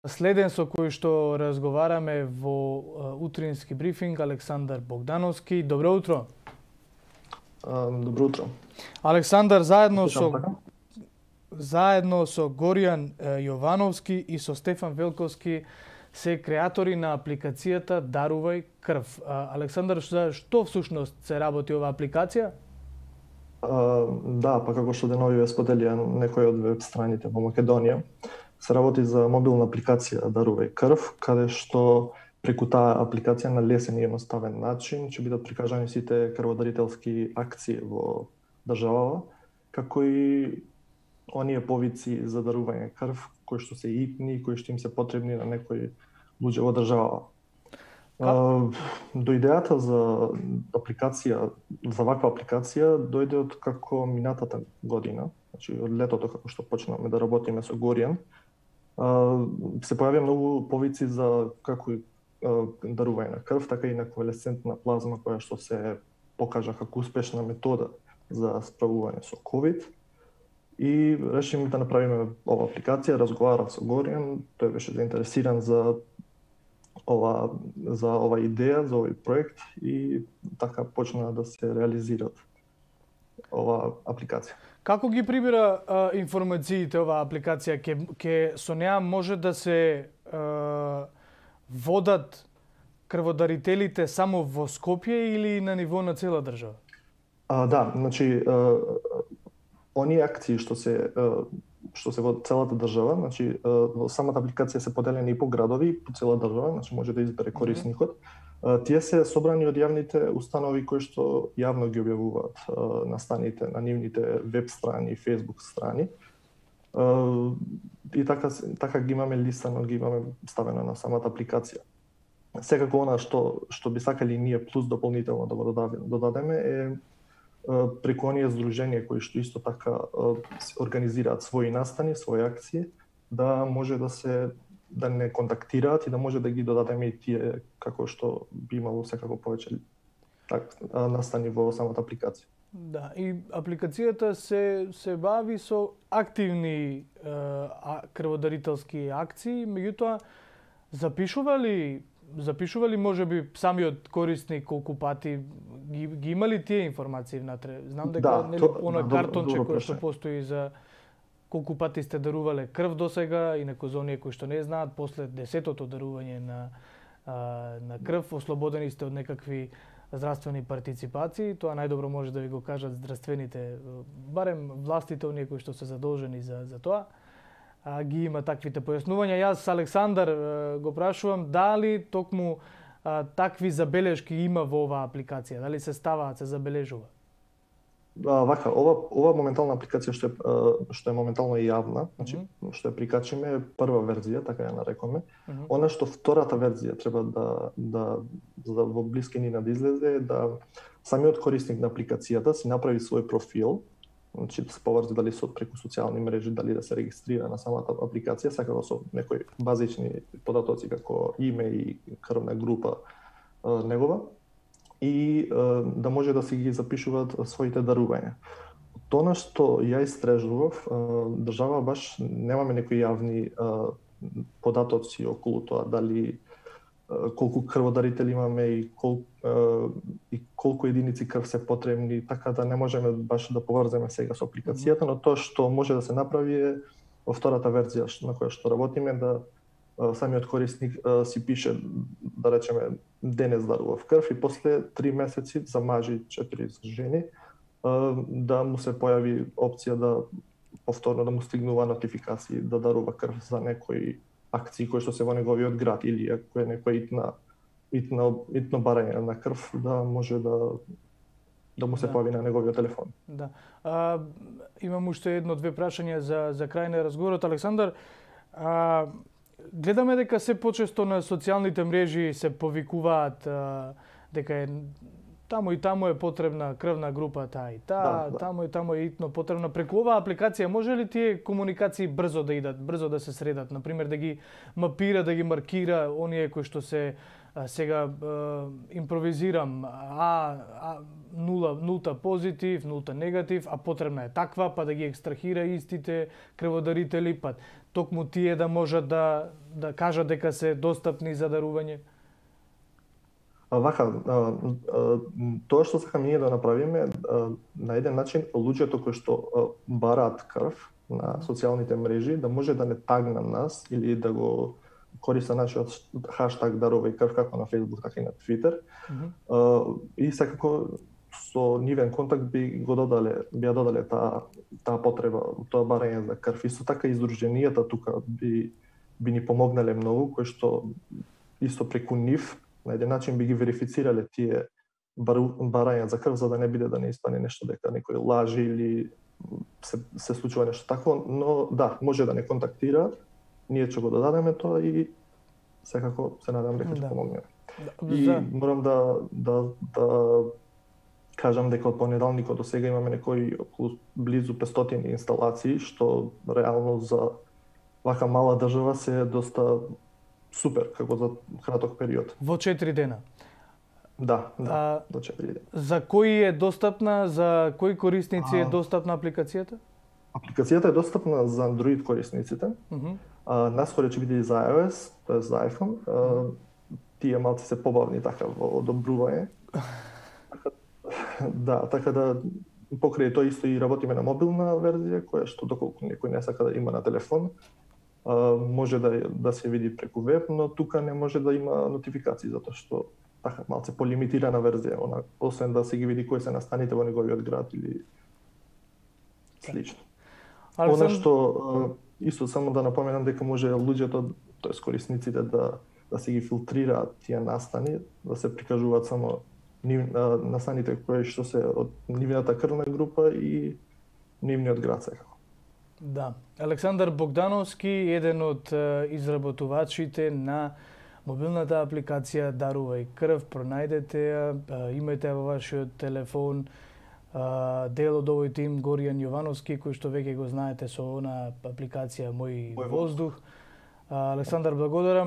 Следен со кој што разговараме во утрински брифинг, Александар Богдановски. Добро утро. Добро утро. Александар, заедно со Горијан Јовановски и со Стефан Велковски се креатори на апликацијата Дарувај крв. Александар, што всушност се работи оваа апликација? Да, па како што денови ве споделија некои од веб страните во Македонија, се работи за мобилна апликација Дарувај крв, каде што преку таа апликација на лесен и едноставен начин ќе бидат прикажани сите крводарителски акции во државава, како и оние повици за дарување крв кои што се итни, кои што им се потребни на некои луѓе во државава. До идејата за ваква апликација дојде од како минатата година, значи од летото како што почнавме да работиме со Горијан, се појавија многу повици за како дарување на крв, така и на конвалесцентна плазма која што се покажа како успешна метода за справување со ковид. И решиме да направиме ова апликација, разговарав со Горијан, тој беше заинтересиран за ова идеја, за овој проект и така почна да се реализира ова апликација. Како ги прибира информациите оваа апликација? Ке со неа може да се водат крводарителите само во Скопје или на ниво на цела држава? Да, значи оние акции што се во целата држава, значи во самата апликација се поделени и по градови, и по цела држава, значи може да избере корисникот. Тие се собрани од јавните установи кои што јавно ги објавуваат на станите, на нивните веб страни и фејсбук страни. И така ги имаме листано, ги имаме ставено на самата апликација. Секако она што би сакали ние плюс дополнително да го додадеме е преку оние здруженија кои што исто така организираат своји настани, своји акции, да може да не контактираат и да може да ги додадеме и тие како што би имало секако повеќе настани во самата апликација. Да, и апликацијата се бави со активни крводарителски акции, меѓутоа запишува ли можеби самиот корисник колку пати ги имали тие информации внатре? Знам дека оној картонче кој што постои за колку пати сте дарувале крв досега и некои за оние кои што не знаат, после 10-тото дарување на крв ослободени сте од некакви здравствени партиципации. Тоа најдобро може да ви го кажат здравствените, барем властите, оние кои што се задолжени за тоа. Ги има таквите појаснувања. Јас, Александар, го прашувам дали токму такви забелешки има во оваа апликација, дали се ставаат, се забележува? Вака, ова моментална апликација што е моментално јавна, значи што ја прикачиме е прва верзија, така ја нарекоме. Она што втората верзија треба да во блискини да излезе, да самиот корисник на апликацијата си направи свој профил, значи да се поврзи дали преку социјални мрежи, дали да се регистрира на самата апликација, секако со некои базични податоци како име и крвна група негова, и да може да си ги запишуваат своите дарувања. Тоа што ја истражував, држава баш немаме некои јавни податоци околу тоа, дали колку крводарители имаме и колку единици крв се потребни, така да не можеме баш да поврземе сега со апликацијата, но тоа што може да се направи е во втората верзија на која што работиме, да самиот корисник си пише, да речеме, денес дарував крв и после 3 месеци за мажи, 4 за жени, да му се појави опција да повторно да му стигнува нотификации да дарува крв за некои акции кои што се во неговиот град или ако е некоја итно барање на крв, да може да му се појави на неговиот телефон. Да. Имам уште едно-две прашања за крај на разговорот. Александар, гледаме дека се почесто на социјалните мрежи се повикуваат дека е таму и таму е потребна крвна група таа и таа, таму и таму е итно потребна. Преку оваа апликација може ли тие комуникации брзо да идат, брзо да се средат, например да ги мапира, да ги маркира оние кои што се сега импровизирам, нулта позитив, нулта негатив, а потребна е таква, па да ги екстрахира истите крводарители, па токму тие да можат да кажат дека се достапни за дарување? Вака, тоа што сакаме ние да направиме, на еден начин луѓето кои што бараат крв на социјалните мрежи да може да не тагнат нас или да го користат нашиот хаштаг дарувај крв како на Facebook, така и на Twitter. И секако со нивен контакт би ја додале таа потреба, тоа барање за крв. Исто така издруженијата тука би ни помогнале многу, кои што исто преку нив на еден начин би ги верифицирале тие барања за крв, за да не биде да не испане нешто дека некој лажи или се случува нешто такво, но да, може да не контактира, ние ќе го додадеме тоа и секако се надам дека ќе помогнеме. И морам да кажам дека од понеделникот до сега имаме некои околу близу 500 инсталации, што реално за вака мала држава се доста супер, како за краток период. Во 4 дена? Да, до 4 дена. За кои е достапна, за кои корисници е достапна апликацијата? Апликацијата е достапна за Android корисниците. Наскоро ќе биде и за iOS, тоа за iPhone. Тие малку се побавни така во одобрување. Да, така да покрај тоа исто и работиме на мобилна верзија, која што доколку некој не сака да има на телефон, може да се види преку веб, но тука не може да има нотификации, затоа што така малце полимитирана верзија, освен да се ги види кои се настаните во неговиот град или слично. Она што исто само да напоменам дека може луѓето, тоест корисниците да се ги филтрираат тие настани, да се прикажуваат само настаните кои што се од нивната крвна група и нивниот град секако. Да. Александар Богдановски, еден од изработувачите на мобилната апликација Дарувај крв, пронајдете ја, имајте во вашиот телефон. Дел од овој тим Горијан Јовановски, кој што веќе го знаете со она апликација Мој воздух. Александар, благодарам.